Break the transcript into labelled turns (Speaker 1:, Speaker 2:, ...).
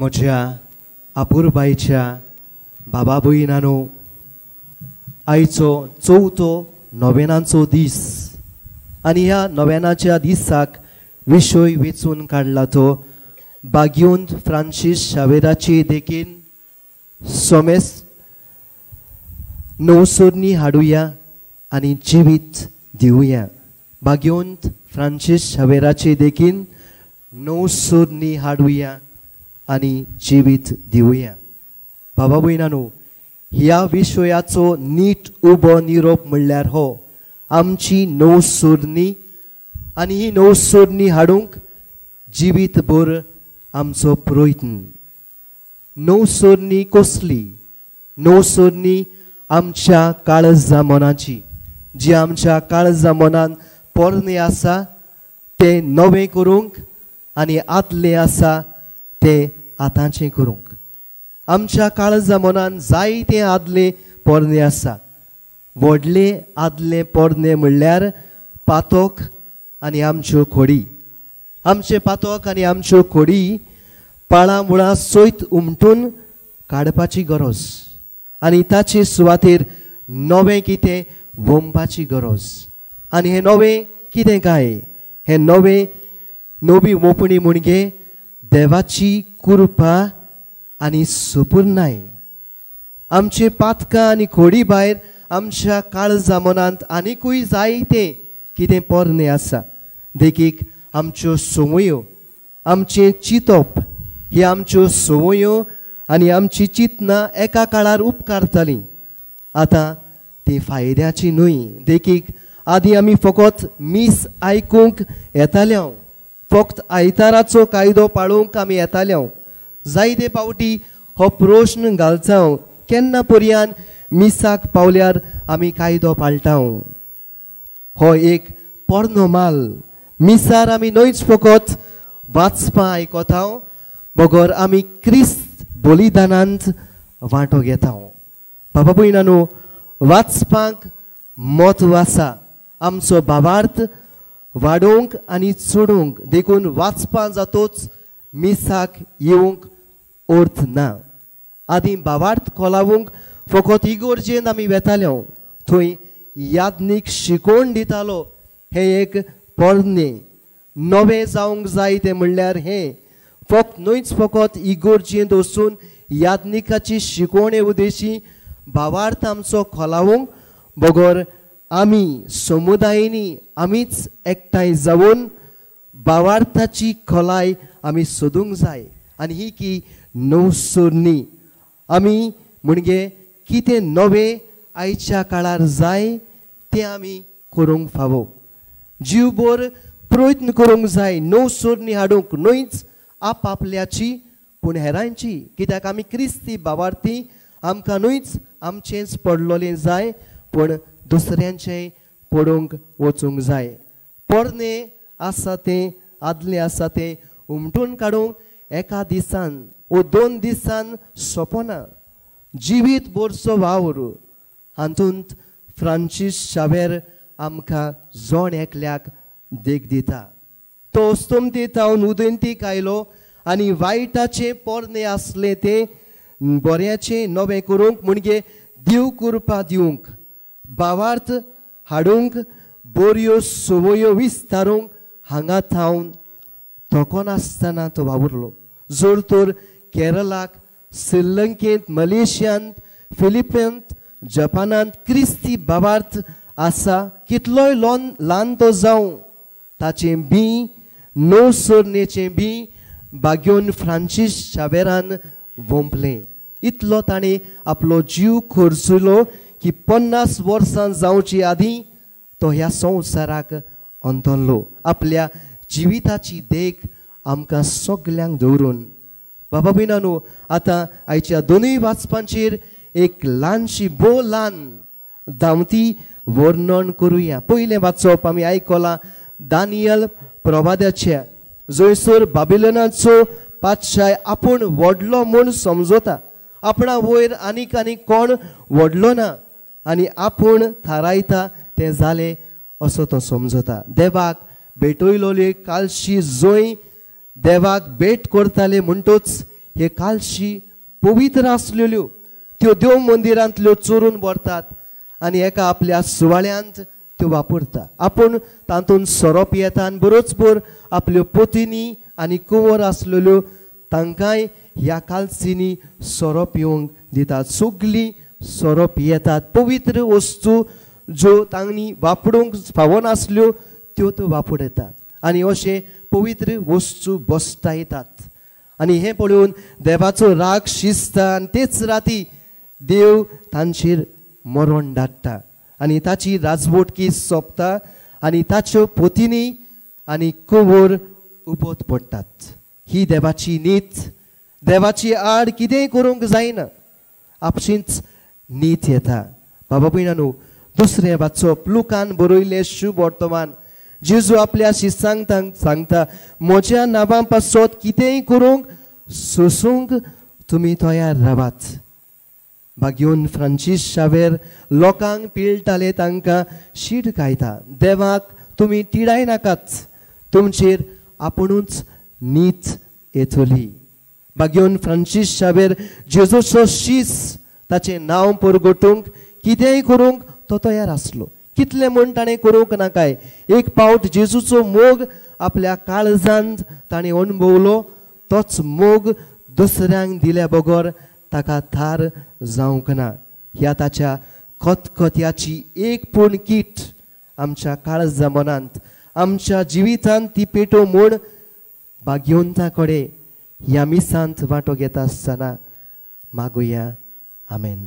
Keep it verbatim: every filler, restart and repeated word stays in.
Speaker 1: म्हज्या आपुरबायच्या बाबा भयणांनो, आयचो चवथो नोवेनाचो दीस आनी ह्या नोवेनाच्या दिसाक विशय वेंचून काडला तो बाग्योंत फ्रांसीस शावेराची देखीन सोमेस नवसोरणी हाडुया आनी जिवीत दिवया. बाग्योंत फ्रांसीस शावेराची देखीन नवसोरणी हाडुया आनी जिवीत दिवया. बाबा भयणांनो, ह्या विशयाचो नीट उबो निरोप म्हणल्यार हो आमची नवसोरणी आनी ही नवसोरणी हाडूंक जिवीतभर आमचो प्रयत्न. नवसोरणी कसली? नवसोरणी आमच्या काळजा मनाची, जी आमच्या काळजा मनान पोरणे आसा तें नवें करूंक आनी आदलें आसा तें आतांचें करूंक. आमच्या काळजा मनान जायतें आदलें पोरणें आसा. व्हडलें आदलें पोरणें म्हणल्यार पातोक आनी आमच्यो खोडी. आमचें पातोक आनी आमच्यो खोडी पाळां मुळां सयत उमटून काडपाची गरज आनी ताचे सुवातेर नवें कितें वोमपाची गरज. आनी हें नवें कितें काय? हें नवें नवी वोपणी म्हणजे देवाची कृपा आनी सुपुर्नाय. आमचे पातकां आनी खोडी भायर आमच्या काळजा मनांत आनिकूय जायतें कितें पोरणें आसा. देखीक आमच्यो संवयो, आमचें चिंतप. ही आमच्यो संवयो आनी आमची चिंतनां एका काळार उपकारतालीं, आतां ती फायद्याची न्हय. देखीक आदीं आमी फकत मीस आयकूंक येताले, फक्त आयताराचो कायदो पाळोवंक आमी येताले. जायते पावटी हो प्रश्न घालता, केन्ना पर्यान मिसाक पावल्यार आमी कायदो पाळटा? हो एक पोरणो माल. मिसार आमी न्हयच फकत वाचपां आयकता, बगर आमी क्रिस्त बलिदानांत वांटो घेता. बाबा भयणांनो, वाचपाक म्हत्व आसा आमचो भावार्थ वाडोवंक आनी चडोवंक. देखून वाचपां जातोच मिसाक येवंक अर्थ ना. आदीं भावार्थ खोलावूंक फकत इगोर्जेंत आमी वेताले, थंय याज्ञीक शिकोवन दितालो. हें एक पोरणें नवें जावंक जाय तें म्हणल्यार हें फक्त न्हयच फकत इगोर्जेंत वचून याज्ञिकाची शिकवणे उद्देशी भावार्थ आमचो खोलावूंक, बगर आमी समुदायनी आमीच एकठांय जावन भावार्थाची खोलाय आमी सोदूंक जाय. आनी ही की नवसोरणी आमी म्हणजे कितें नवें आयच्या काळार जाय तें आमी करूंक फावो. जीवभर प्रयत्न करूंक जाय नवसोरणी हाडूंक, न्हयच आपआपल्याची पूण हेरांची. कित्याक आमी क्रिस्ती भावार्थी, आमकां न्हयच आमचेंच पडलोलें जाय पूण दुसऱ्यांचें पडूंक वचूंक जाय. पोरणें आसा तें आदलें आसा तें उमटून काडूंक एका दिसान वो दोन दिसान सोंपना. जिवीत भरचो वावर हातूंत फ्रांसीस शावेर आमकां जण एकल्याक देख दिता. तो अस्तमते थावन उदंतीक आयलो आनी वायटाचें पोरणें आसलें तें बऱ्याचें नवें करूंक म्हणजे देव कृपा दिवंक, भावार्थ हाडूंक, बऱ्यो संवयो विस्तारूंक हांगा थावन थकनासतना तो वावुरलो. जर तर केरळाक, श्रीलंकेंत, मलेशियांत, फिलिपिन्त, जपानांत क्रिस्ती भावार्थ आसा, कितलोय लोन ल्हान तो जावं, ताचें बीं नवसोरणेचें बीं बाग्योन फ्रांसीस शावेरान वोंपलें. इतलो ताणें आपलो जीव खर्चलो की पन्नास वर्सां जावचे आदीं तो ह्या संवसाराक अंतरलो. आपल्या जिविताची देख आमकां सगल्यांक दवरून. बाबा भयणांनो, आतां आयच्या दोनूय वाचपांचेर एक ल्हानशी भोव ल्हान धांवती वर्णन करुया. पयलें वाचप आमी आयकलां दानियल प्रवाद्याच्या, जंयसर बाबिलनाचो पातशाय आपूण व्हडलो म्हूण समजता, आपणा वयर आनीक आनीक कोण व्हडलो ना आनी आपूण थारायता तें जालें असो तो समजता. देवाक भेटयलोले कालशी जंय देवाक भेट करताले म्हणटूच हे कालशी पवित्र आसलेल्यो त्यो देव मंदिरांतल्यो चोरून व्हरतात आनी एका आपल्या सुवाळ्यांत त्यो वापरता. आपूण तातूंत सोरो पियेता आनी बरोच भर आपल्यो पोतिनी आनी कुंवर आसलेल्यो तांकांय ह्या कालसींनी सोरो पिवंक दितात. सगळीं सोरो पियेतात. पवित्र वस्तू ज्यो तांणी वापरूंक फावनासल्यो त्यो त्यो वापरतात आनी अशें पवित्र वस्तू बसतायतात. आनी हें पळोवन देवाचो राग शिजता आनी तेच राती देव तांचेर मरण धाडटा आनी ताची राजवटकी सोंपता आनी ताच्यो पोतिनी आनी कुंवर उबोत पडटात. ही देवाची नीत. देवाची आड कितेंय करूंक जायना, आपशींच नीत येता. बाबा भयणांनो, दुसरें वाचप लुकान बरयलें शुभ वर्तमान. जेजू आपल्या शिसांक सांगता, म्हज्या नांवा पासत कितेंय करूंक सोसूंक तुमी तयार रावात. भाग्योन फ्रांसीस शावेर लोकांक पिळटाले तांकां शीड गायता, देवाक तुमी तिडाय नाकात, तुमचेर आपुणूच नीत येतली. भाग्योन फ्रांसीस शावेर जेजूचो शीस ताचें नांव परगटूंक कितेंय करूंक तो तयार आसलो. कितलें म्हूण ताणें करूंक नाकाय, एक पावट जेजूचो मोग आपल्या काळजांत ताणें अणभवलो, तोच मोग दुसऱ्यांक दिल्या बगर ताका थार जावंक ना. ह्या ताच्या खतखत्याची एक पूण कीट आमच्या काळजा मनांत आमच्या जिवितांत ती पेटो म्हूण भाग्यवंता कडेन ह्या मिसांत वांटो घेता आसतना मागुया. आमेन.